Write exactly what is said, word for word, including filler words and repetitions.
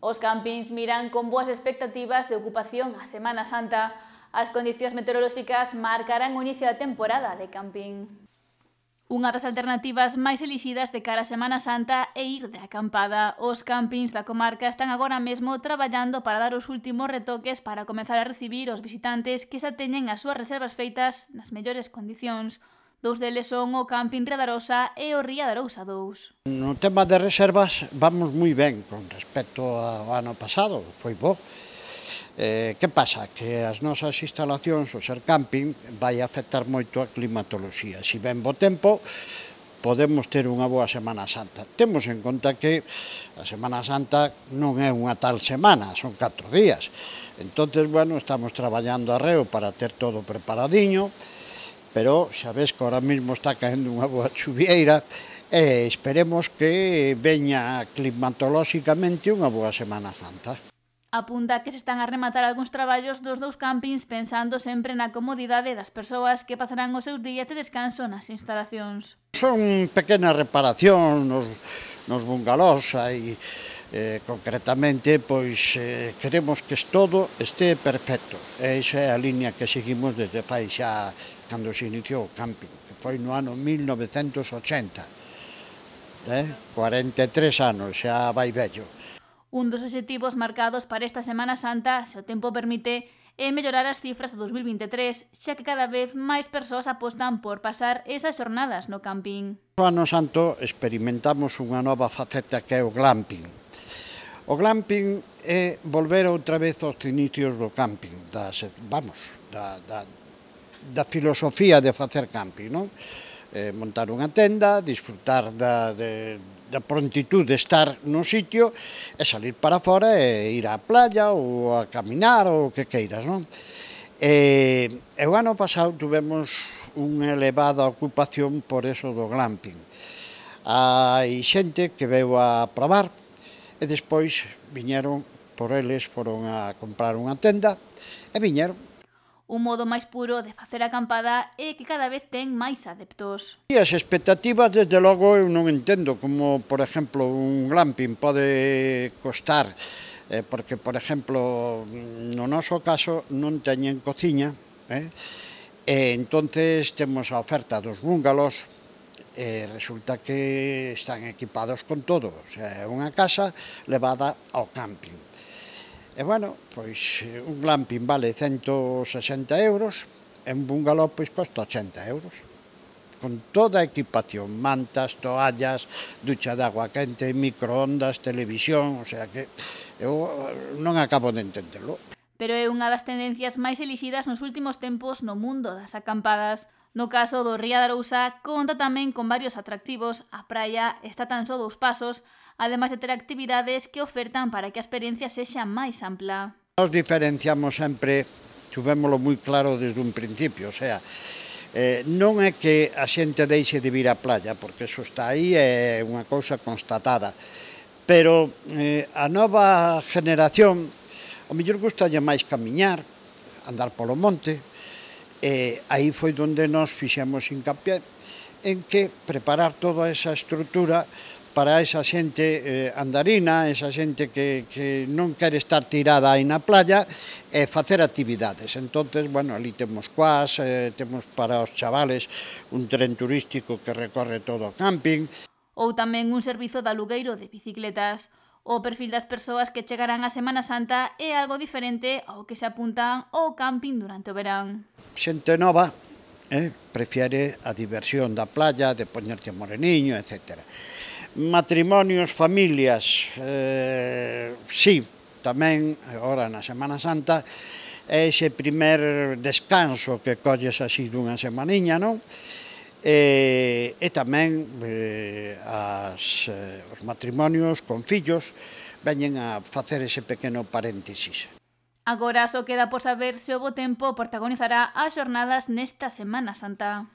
Os campings miran con boas expectativas de ocupación a Semana Santa. As condicións meteorolóxicas marcarán o inicio da temporada de camping. Unha das alternativas máis elixidas de cara a Semana Santa é ir de acampada. Os campings da comarca están agora mesmo traballando para dar os últimos retoques para comezar a recibir os visitantes que xa teñen as súas reservas feitas nas mellores condicións. Dous deles son o Camping Riadarosa e o Ría de Arousa dous. No tema de reservas vamos moi ben con respecto ao ano pasado, foi bo. Eh, que pasa? Que as nosas instalacións, o ser camping, vai afectar moito a climatoloxía. Si ven bo tempo, podemos ter unha boa Semana Santa. Temos en conta que a Semana Santa non é unha tal semana, son catro días. Entonces, bueno, estamos traballando arreo para ter todo preparadiño, pero xa ves que ahora mesmo está caendo unha boa chuvieira e esperemos que veña climatolóxicamente unha boa Semana Santa. Apunta que se están a rematar algúns traballos dos dous campings pensando sempre na comodidade das persoas que pasarán os seus días de descanso nas instalacións. Son pequenas reparacións nos, nos bungalós, aí, eh, concretamente, pois eh, queremos que todo este perfecto. E esa é a línea que seguimos desde fai xa cando se iniciou o camping, que foi no ano mil novecentos ochenta. Eh? cuarenta e tres anos, xa vai vello. Un dos obxectivos marcados para esta Semana Santa, se o tempo permite, é mellorar as cifras de dos mil vinte e tres, xa que cada vez máis persoas apostan por pasar esas xornadas no camping. No ano santo experimentamos unha nova faceta que é o glamping. O glamping é volver outra vez aos inicios do camping, das, vamos, da, da, da filosofía de facer camping, non? Eh, montar unha tenda, disfrutar da, de, da prontitud de estar no sitio e salir para fora e ir á playa ou a caminar ou o que queiras, non? E, e o ano pasado tuvemos unha elevada ocupación por eso do glamping. Hai xente que veu a probar e despois viñeron por eles, foron a comprar unha tenda e viñeron. Un modo máis puro de facer acampada é que cada vez ten máis adeptos. E as expectativas, desde logo, eu non entendo como, por exemplo, un glamping pode costar, eh, porque, por exemplo, no noso caso non teñen cociña, eh, e entonces temos a oferta dos búngalos, e resulta que están equipados con todo, o sea, é unha casa levada ao camping. E, bueno, pois un glamping vale cento sesenta euros e un bungalow pois costa ochenta euros. Con toda a equipación, mantas, toallas, ducha de agua quente, microondas, televisión, o sea que eu non acabo de entenderlo. Pero é unha das tendencias máis elixidas nos últimos tempos no mundo das acampadas. No caso do Ría de Arousa, conta tamén con varios atractivos, a praia está tan só dous pasos, ademais de ter actividades que ofertan para que a experiencia sexa máis ampla. Nos diferenciamos sempre, tuvémolo moi claro desde un principio, o sea, eh, non é que a xente deixe de vir á playa, porque eso está aí, é unha cousa constatada, pero eh, a nova generación, ao mellor gustalle máis camiñar, andar polo monte, e aí foi onde nos fixemos hincapié en que preparar toda esa estrutura para esa xente eh, andarina, esa xente que, que non quere estar tirada aí na playa e facer actividades. Entonces, bueno, ali temos cuas, eh, temos para os chavales un tren turístico que recorre todo o camping. Ou tamén un servizo de alugueiro de bicicletas. O perfil das persoas que chegarán a Semana Santa é algo diferente ao que se apuntan ao camping durante o verán. Xente nova eh, prefiere a diversión da playa, de poñerte moreniño, etcétera. Matrimonios, familias, eh, sí, tamén, agora na Semana Santa, é ese primer descanso que colles así dunha semaniña, non? E, e tamén eh, as, eh, os matrimonios con fillos veñen a facer ese pequeno paréntesis. Agora só queda por saber se o bo tempo protagonizará as xornadas nesta Semana Santa.